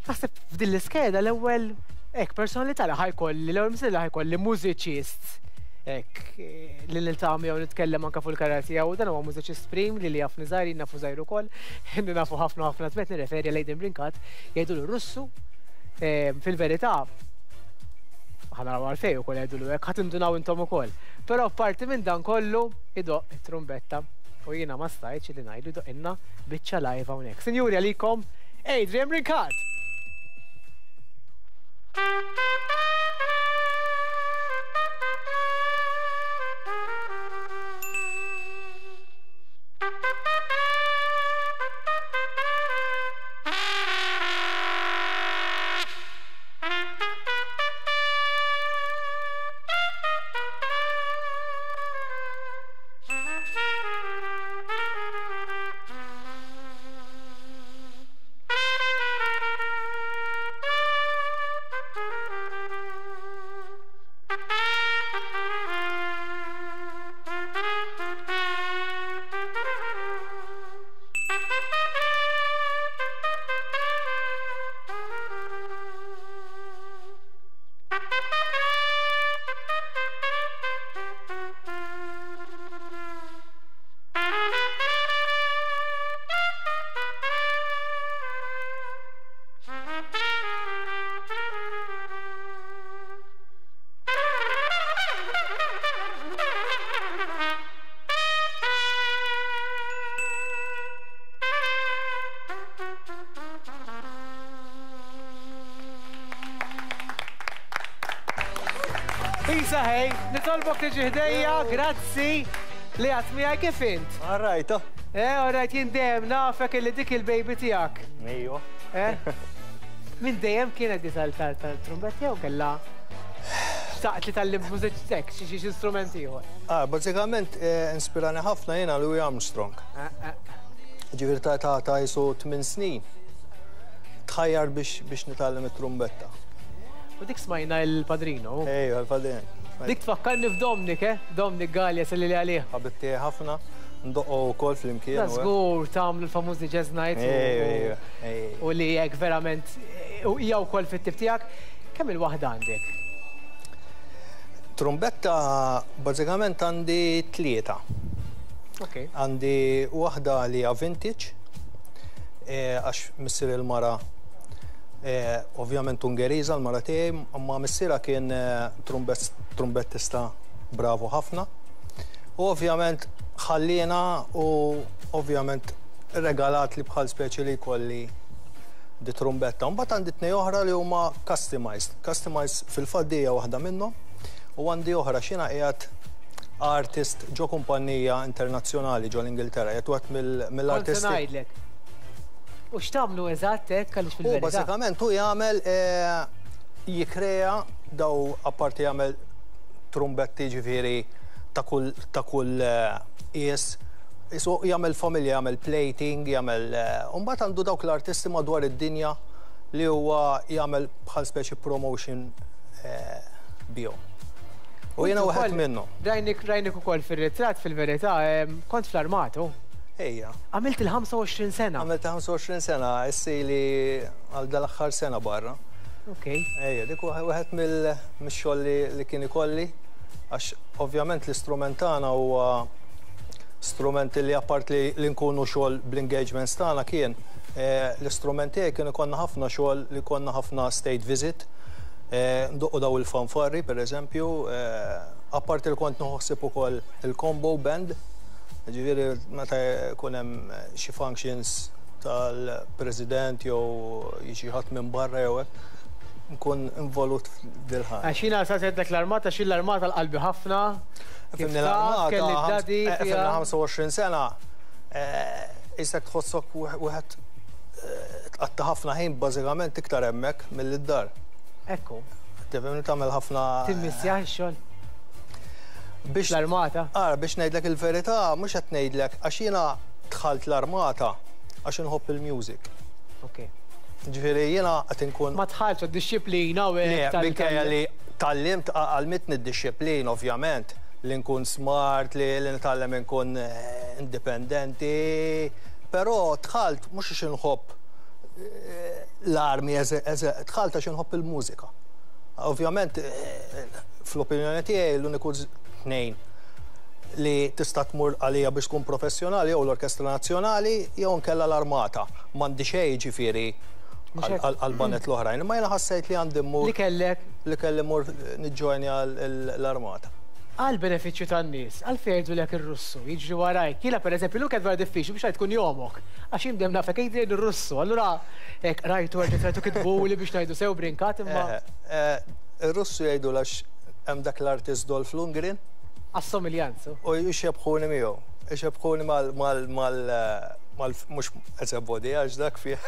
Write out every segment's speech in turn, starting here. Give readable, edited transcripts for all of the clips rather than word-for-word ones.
Naħseb f'din l-iskeda l-ewwel hekk personalità li ħa jkolli, l-ewwel mistieden li ħa jkolli mużiċist hekk li niltaqa' miegħu nitkellem anke fuq il-karriera tiegħu. Dan huwa mużiċist prim li li jafni żgħir, jien nafu żgħir ukoll, li nafu ħafna ħafna żmien nirreferi għal Aidan Brincat, jgħidulu Russu. Fil-verità, ħa naraw għalfejn ukoll jgħidulu hekk, ħa tindunaw intom ukoll. Però apparti minn dan kollu idoqq it-trumbetta u jiena ma stajtx li ngħidlu jdoqqilna biċċa live hawnhekk. Sinjuri għalikom Adrian Brincat! Isa hej, nitolbok tiġi ħdejja, grazzi li għat miegħi kif int. All right. Oh. Eh, all right, jien dejjem nafek illi dik il-baby tiegħek. Ejwa. Eh? Min dejjem kienet di tal-trumbett jew kellha xtaqt li tgħallim mużiċ xi xi strument ieħor? Ah, bażikament eh, inspirani ħafna jiena Louis Armstrong. Eh, eh. Ġifieri ta' ta' ta' jisu 8 snin. Tħajjar biex biex nitgħallem it-trumbetta. U dik smajna il-padrino. Ejwa, il-padrino. Dik tfakkarni f'Domnik, eh? Domnik Galea, selli li għalih. Ħabib tiegħi ħafna, ndoqqu wkoll flimkien. Da żgur tagħmlu l-famużi jazz nights. Ejwa, ejwa. U li hekk verament hija wkoll fit-tip tiegħek. Kemm il-waħda għandek? Trumbetta bażikament għandi tlieta. Ok. Għandi waħda li hija vintage, għax missier il-mara ovvjament Ungeriża l-mara tiegħi, imma missierha kien trumbettista bravu ħafna. U ovvjament ħalliena u ovvjament regalat li bħal speċi li jkolli di trumbetta. Mbagħad għandi tnej oħra li huma customized. Customized fil-fatt di hija waħda minnhom u għandi oħra x'jiena qiegħed artist ġo kumpanija internazzjonali ġo l-Ingilterra, qiegħed wieħed mill-artisti. Kont se ngħidlek. U x'tagħmlu eżatt hekk għaliex fil-verità. U bażikament hu jagħmel jikkrea daw apparti jagħmel trumbetti ġifieri ta' kull ta' kull qies Qisu jagħmel familja, jagħmel plating, jagħmel u mbagħad għandu dawk l-artisti madwar id-dinja li huwa jagħmel bħal speċi promotion bihom. U jiena wieħed minnhom. Rajnik rajnik ukoll fir-ritratt fil-verità, kont fl-armata hu? Ejja. Għamilt il-25 sena. Għamilt il-25 sena, issa ili għal dal-aħħar sena barra. Ok. Ejja, dik wieħed mix-xogħol li kien ikolli għax ovvjament l-istrument tagħna huwa strument li apart li, li nkunu xogħol bl-engagements tagħna kien eh, l-istrument tiegħi kien ikollna ħafna xogħol li konna ħafna state visit, eh, ndoqqu daw il-fanfarri pereżempju, eh, apart li kont nħossib ukoll il-combo band, ġifieri meta jkun hemm xi functions tal-president jew jiġi ħadd minn barra jew hekk, nkun involut f'dil-ħaġa. Għax jiena sa sejtlek l-armata, xi l-armata l-qalbi ħafna. Fimni l-armata, kelli d-dadi. Fimni 25 sena, isek tħossok wieħed tqatta' ħafna ħin bażikament iktar hemmhekk milli d-dar. Ekku. Tifhimni tagħmel ħafna. Timmissjah ix-xogħol? Biex l-armata? Ara, biex ngħidlek il-verità, mhux qed ngħidlek għax jiena dħalt l-armata għax inħobb il-music. Ok. Ġifieri jiena qed inkun. Ma dħaltx għad-dixxiplina u hekk. Le, minkejja li tgħallimt, għallmitni d-dixxiplina ovvjament, li nkun smart, li nitgħallem inkun indipendenti, però dħalt mhux għax inħobb. l-armi dħalt għax inħobb il-mużika. Ovvjament, fl-opinjoni tiegħi l-uniku tnejn li tista' tmur għalija biex tkun professjonali jew l-Orkestra Nazzjonali jew nkella l-Armata. M'għandi xejn ġifieri għal-baned l-oħrajn, imma jiena ħassejt li għandi mmur. Li kellek? Li kelli mmur niġġojnja l-Armata. Għal benefiċċju tan-nies, għalfejn jgħidulek ir-Russu, jiġri warajk. Jiena pereżempju llum kienet vera diffiċli biex ngħid kun jomok, għax jien dejjem nafek Adrian ir-Russu, allura hekk rajtu erġgħet rajtu kitbuli biex ngħidu sew Brincat imma. Ir-Russu jgħidulu għax hemm dak l-artist Dolph Lundgren. Għas-somiljanza. U jxebbħuni miegħu. Ixebbħuni mal mal mal mal mhux as a body għax dak fih.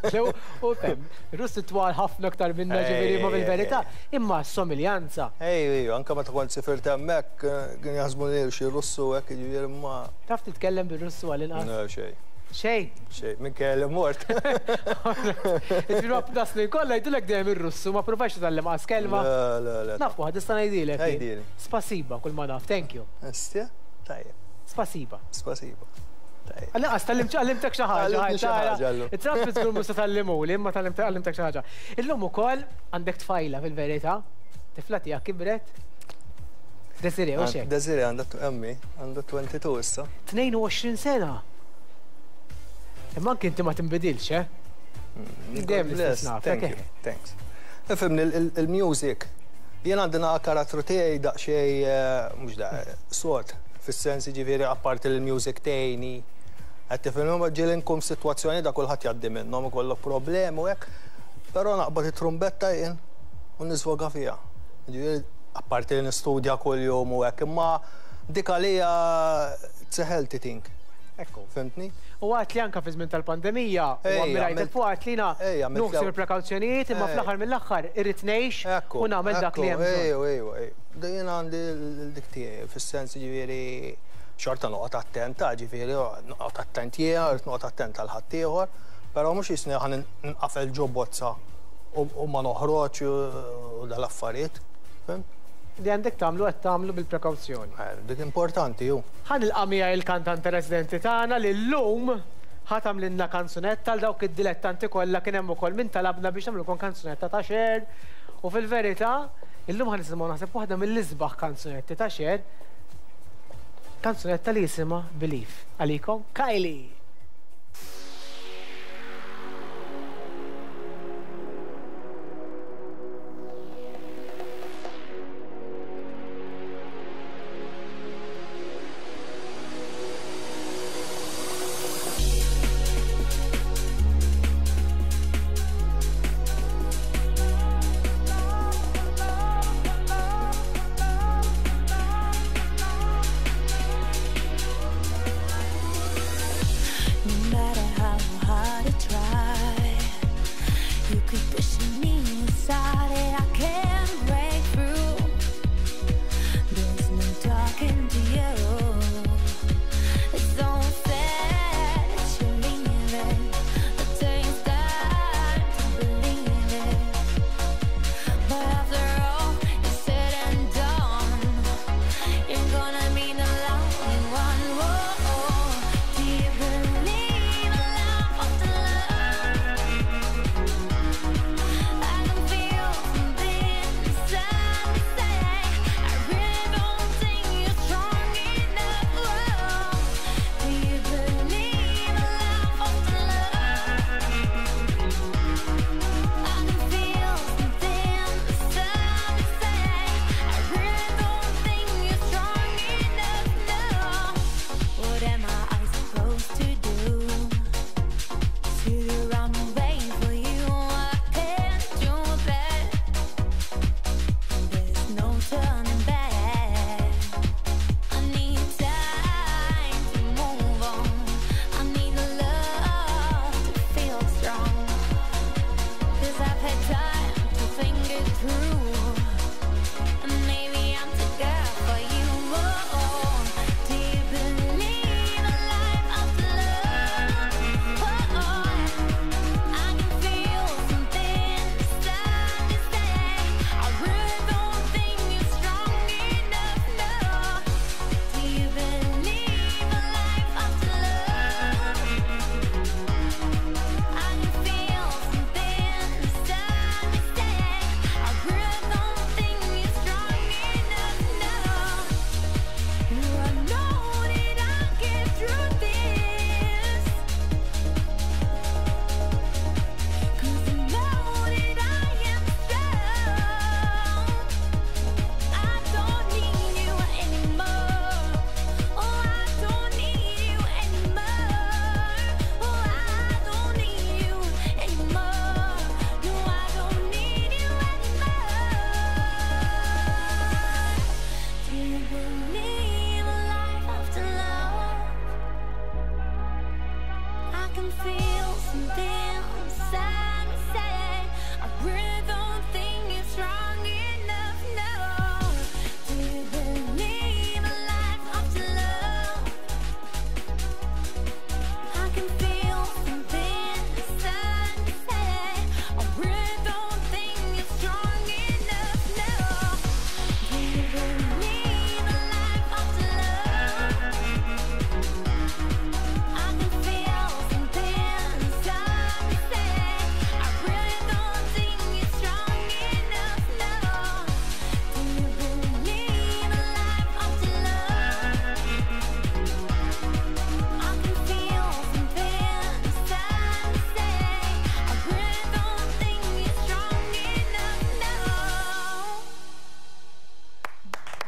Sew, u fem, Russi twal ħafna aktar minna ġifieri ma fil-verità, imma s-somiljanza. Ej, ej, anke meta kont sifirt hemmhekk kien jaħsbu li xi Russu hekk jiġifieri ma. Taf titkellem bir-Russu għall-inqas? Le, xejn. Xejn? Xejn, minkejja li mort. Jiġifieri waqt das-snin kollha jgħidulek dejjem ir-Russu, ma provajtx titgħallem qas kelma? Le, le, le. Naf waħda nista' ngħidilek. Għidili. Spasiba kull ma naf, thank you. Istja? Tajjeb. Spasiba. Spasiba. Tajjeb. Għal-inqas tgħallimtek xi ħaġa. Tgħallimtni xi ħaġa llum. It-traffic żgur mhux se tgħallimuli, imma tgħallimtek xi ħaġa. Illum ukoll għandek tfajla fil-verità. Tifla tiegħek kibret. Desiree, u xek? Desiree għandha emmi, għandha 22 issa. 22 sena. Imma anke inti ma tinbidilx, eh? Dejjem l-istess naf. Thank you, thanks. Ifhimni il-music. Jien għandi naqa karattru tiegħi daqsxejn mhux da sod, fis-sens jiġifieri apparti li l-music tgħinni. Qed tifhimni ma ġieli nkun f'sitwazzjoni da kulħadd jgħaddi minnhom ikollok problemi u hekk, però naqbad it-trumbetta jien u nisvoga fiha. Jiġifieri apparti li nistudja kuljum u hekk, imma dik għalija it's a healthy thing. Ekku. Fhimtni? U għedt li anke fi żmien tal-pandemija, u ammirajtek fuq għedt li jiena nieħu il-prekawzjonijiet imma fl-aħħar mill-aħħar irrid ngħix u nagħmel dak li hemm bżonn. Ejju, ejju, ejju. Jien għandi dik tiegħi, fis-sens jiġifieri xorta noqgħod attent, ġifieri noqgħod attent jiena, rrid noqgħod attent għal ħaddieħor, però mhux jisni ħa ninqafel ġo bozza u ma noħroġ u dal-affarijiet. Fhimt? Li għandek tagħmlu qed tagħmlu bil-prekawzjoni. Dik importanti hu. Ħa nilqa' miegħi il-kantante residenti tagħna li llum ħa tagħmlilna kanzunetta għal dawk id-dilettanti kollha kien hemm ukoll min talabna biex nagħmlulkom kanzunetta ta' Cher u fil-verità illum ħa nisimgħu naħseb waħda mill-isbaħ kanzunetti ta' Cher, kanzunetta li jisimha Believe. Għalikom Kylie! No matter how hard I try, you keep pushing me aside and I can't break through. There's no talking to you. It's so sad that you're leaving. It takes time to believe it. But after all is said and done, you're gonna be the lonely one. Whoa, do you believe in love after love? I can feel something inside me say I really don't think you're strong enough. Whoa, do you believe in love after love? I can feel something inside me say I really don't think you're strong enough. No, what am I supposed to do? Sit around and wait for you? I can't do that. There's no turning back. I need time to move on. I need love to feel strong. 'Cause I've had time to think it through. And maybe I'm too good for you. Oh, do you believe in life after love? Oh, I can feel something inside me say I really don't think you're strong enough. No, do you believe in life after love? I can feel something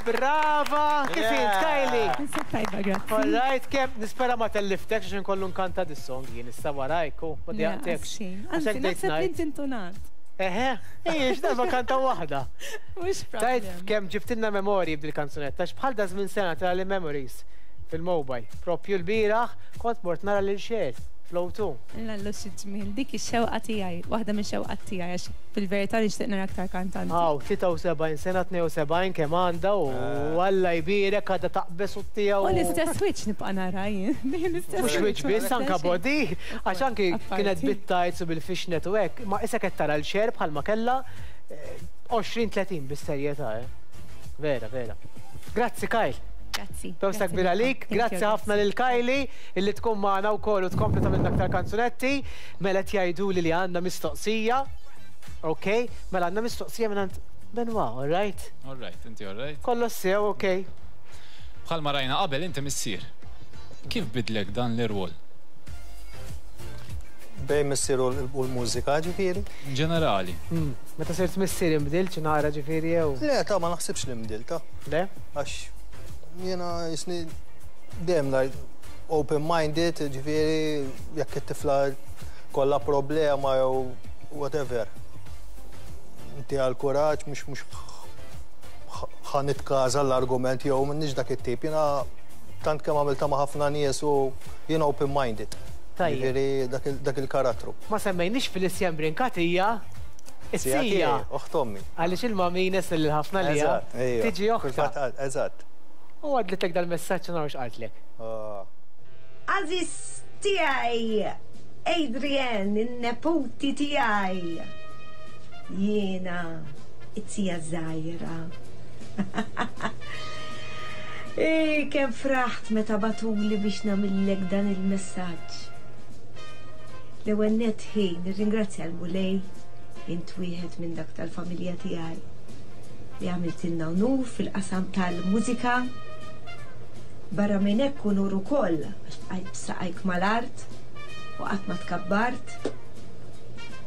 Brava! Kif int, Kylie? Ninsab tajba, grazzi. All right, kemm nispera ma telliftekx għax inkollu nkanta dis-song jien issa warajk u ma dejaqtekx. Anzi, naħseb li inti intonat. Eħe, ejja, x'darba kanta waħda. Mhux problem. Tajt kemm ġibtilna memorji b'dil-kanzunetta, għax bħal da żmien sena tara li memories fil-mobile. Propju l-bieraħ kont mort nara lil Cher fl-O2. Lallu xi ġmiel, dik ix-xewqa tiegħi, waħda mix-xewqat tiegħi għax fil-verità nixtieq nara aktar kantanti. Hawn, 73 sena, 72 kemm għandha u Alla jbierek għadha taqbeż u ttiegħu. U l-istess wiċċ nibqa' nara jien, dejjem l-istess Mhux wiċċ biss, anke body, għax anki kienet bit-tights u bil-fishnet u hekk, ma isek qed tara l-Cher bħalma kellha 20, 30 bis-serjetà, eh. Vera, vera. Grazzi Kyle. Grazzi. Bewsa kbira għalik, grazzi ħafna lil Kylie illi tkun magħna wkoll u tkompli tagħmilna aktar kanzunetti. Mela qed jgħiduli li għandna mistoqsija. Ok, mela għandna mistoqsija mingħand Benoit, all right? All right, inti all right? Kollox sew, ok. Bħalma rajna qabel inti missier. Kif bidlek dan l-irwol? Bejn missier u l-mużika ġifieri? Ġenerali. Meta sirt missier inbdilt xi naqra ġifieri jew? Le, ta' ma naħsibx li nbdilt, ta'. Le? Għax jiena jisni dejjem ngħid open-minded, ġifieri jekk it-tifla kollha problema jew whatever. Inti għal kuraġġ mhux mhux ħa nitkaża l-argument jew m'inhiex dak it-tip. Jiena tant kemm għamiltha ma' ħafna nies u jiena open-minded. Tajjeb. Jiġifieri dak il-karattru. Ma semmejniex Felicien Brincat hija Sija s-sija. tiegħi, oħt ommi. Għaliex il-mamines lil ħafna li hija Eżatt, ejja. tiġi oħtha. Fil-fatt, eżatt. U għadlitlek dal-messaġġ u naraw x'qaltlek. Ah. Għażiż tiegħi, Adrian, in-neputi tiegħi. Jiena it-tija żgħira. Ej, kemm fraħt meta bagħtuli biex nagħmillek dan il-messaġġ. L-ewwel nett ħi, nirringrazzja l-Mulej, int wieħed minn dak tal-familja tiegħi li għamiltilna unur fil-qasam tal-mużika. Barra minn hekk unur ukoll għax bqajt b'saqajk mal-art u qatt ma tkabbart.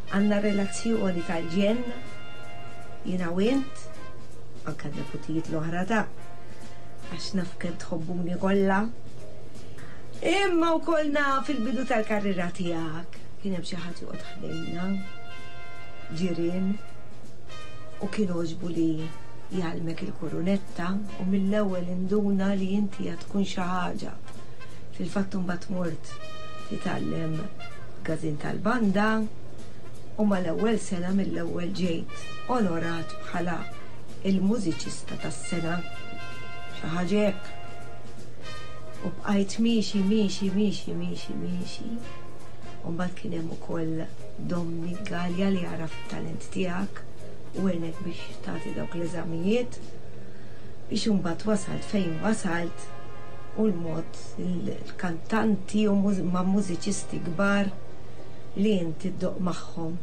Għandna relazzjoni tal-ġenn, jiena u int, anke n-neputijiet l-oħra ta' għax naf kemm tħobbuni kollha. Imma wkoll naf il-bidu tal-karriera tiegħek kien hemm xi ħadd joqgħod ħdejna, ġirien, u kien għoġbu li jgħallmek il-kurunetta u mill-ewwel induna li inti għad tkun xi ħaġa. Fil-fatt imbagħad mort titgħallem każin tal-banda u mal-ewwel sena mill-ewwel ġejt onorat bħala il-mużiċista tas-sena. Xi ħaġa hekk. U bqajt miexi, miexi, miexi, miexi, miexi. U mbagħad kien hemm ukoll Dominic Galea li għaraf it-talent tiegħek u għenek biex tagħti dawk l-eżamijiet biex imbagħad wasalt fejn wasalt u l-mod il-kantanti u ma' mużiċisti kbar li inti ddoqq magħhom.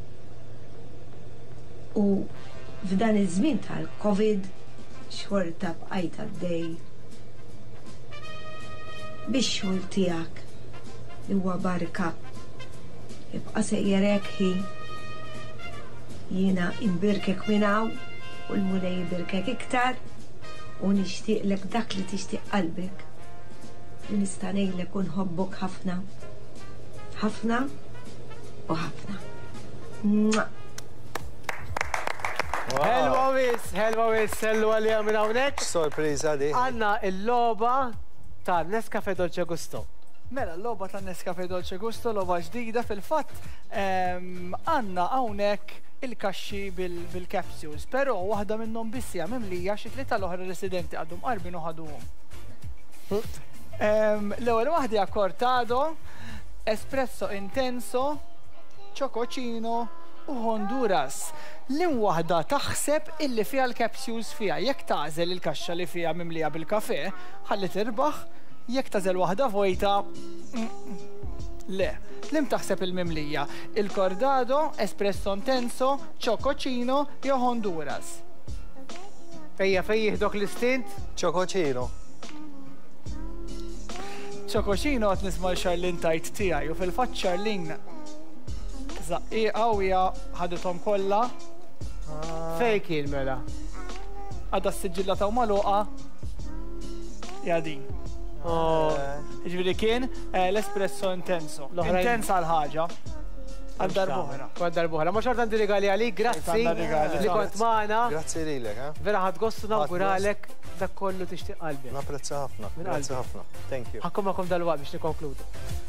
U f'dan iż-żmien tal-Covid xorta bqajt għaddej bix-xogħol tiegħek li huwa barka. Ibqa' sejjer hekk ħi. Jiena imbirkek minn hawn u l-Mulej ibirkek iktar u nixtieqlek dak li tixtieq qalbek. Li nista' ngħidlek u nħobbok ħafna. Ħafna u ħafna. Mwah! Ħelwa wis, ħelwa wis, sellu għalija minn hawnhekk. Sorpriża di. Għandna l-logħba ta' Nescafe Dolce Gusto. Mela, l-logħba ta' Nescafe Dolce Gusto, logħba ġdida fil-fatt għandna hawnhekk il-kaxxi bil-capsules, però waħda minnhom biss hija mimlija xi tlieta l-oħra residenti għadhom qarbin u ħaduhom. L-ewwel waħda hija cortado, espresso intenso, chococino u Honduras. Liem waħda taħseb illi fiha l-capsules fiha? Jekk tagħżel il-kaxxa li fiha mimlija bil-kafè, ħalli tirbaħ, jekk tagħżel waħda vojta, le. Liem taħseb il-mimlija? Il-Cordado, Espresso Intenso, Chococino jew Honduras? Ejja, fejn jieħdok l-istint? Chococino. Chococino qed nisma' 'l Charlene tgħid tiegħi u fil-fatt Charlene żaqqieqa u hija ħadithom kollha. Fejn kien mela? Għadha s-siġillata u magħluqa. Ja din. Oh. Ġifieri kien eh, l-espresso intenso. Intensa l-ħaġa. Għal darb'oħra. Għal darb'oħra. Ma xorta għandi rigali għalik, grazzi li kont magħna. Grazzi lilek, eh? Vera ħadd gostu nawguralek dak kollu tixtieq qalbi. Napprezza ħafna. Grazzi ħafna. Thank you. Ħakkom magħkom dalwaqt biex nikkonkludu.